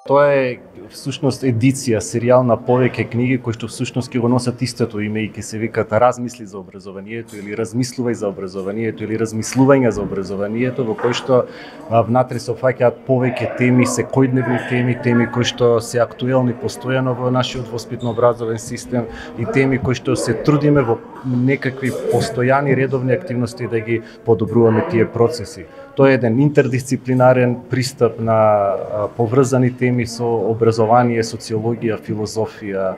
Тоа е всушност едиција, серијал на повеќе книги кои што всушност ќе го носат истото име и ќе се викаат Размисли за образованието или Размислувај за образованието или Размислување за образованието, во кој што внатре се опфаќаат повеќе теми, секојдневни теми кои што се актуелни постојано во нашиот воспитно-образовен систем и теми кои што се трудиме во некакви постојани редовни активности да ги подобруваме тие процеси. Тоа е еден интердисциплинарен пристап на поврзани теми со образование, социологија, филозофија,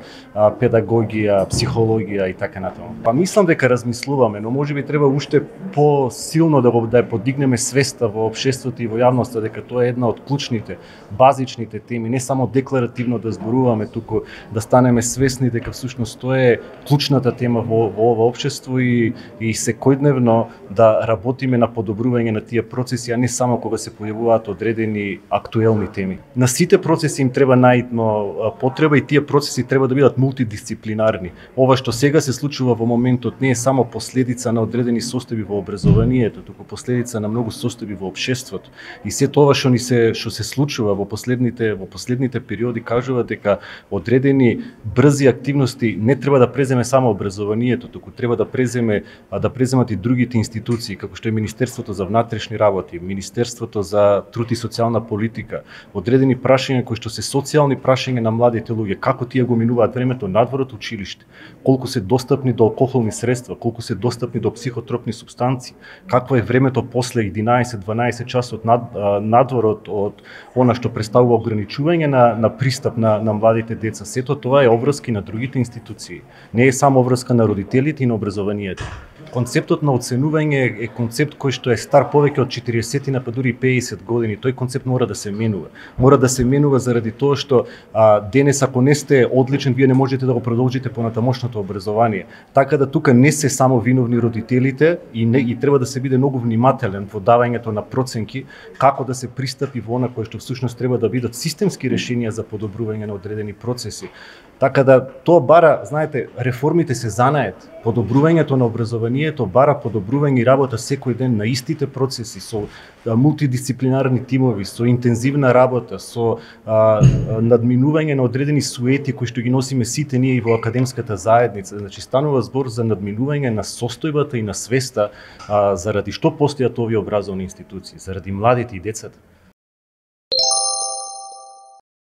педагогија, психологија и така натаму. Па мислам дека размислуваме, но можеби треба уште посилно да ја подигнеме свеста во општеството и во јавноста дека тоа е една од клучните, базичните теми, не само декларативно да зборуваме, туку да станеме свесни дека всушност тоа е клучната тема во ова општество и секојдневно да работиме на подобрување на тие процеси, а не само кога се појавуваат одредени актуелни теми. На сите процеси им треба наидно потреба и тие процеси треба да бидат мултидисциплинарни. Ова што сега се случува во моментот не е само последица на одредени состојби во образованието, туку последица на многу состојби во општеството. И сето ова што се случува во последните периоди кажува дека одредени брзи активности не треба да преземе само образованието, туку треба да преземат и другите институции, како што е Министерството за внатрешни работи, Министерството за труд и социјална политика, одредени прашања кои што се социјални прашања на младите луѓе, како тие го минуваат времето надвор од училиште, колку се достапни до алкохолни средства, колку се достапни до психотропни супстанции, какво е времето после 11-12 часот надвор од она што представува ограничување на пристап на младите деца. Сето тоа е обврски на другите институции. Не е само обврска на родителите и на образованието. Концептот на оценување е концепт кој што е стар повеќе од 40 па дури 50 години. Тој концепт мора да се менува. Мора да се менува заради тоа што денес ако не сте одличен, вие не можете да го продолжите понатамошното образование. Така да тука не се само виновни родителите и треба да се биде многу внимателен во давањето на проценки како да се пристапи во она кој што всушност треба да бидат системски решенија за подобрување на одредени процеси. Така да тоа бара, знаете, реформите се занаед. Подобрувањето на образованието бара подобрување и работа секој ден на истите процеси со мултидисциплинарни тимови, со интензивна работа, со надминување на одредени суети кои што ги носиме сите ние и во академската заедница. Значи станува збор за надминување на состојбата и на свеста заради што постојат овие образовни институции, заради младите и децата.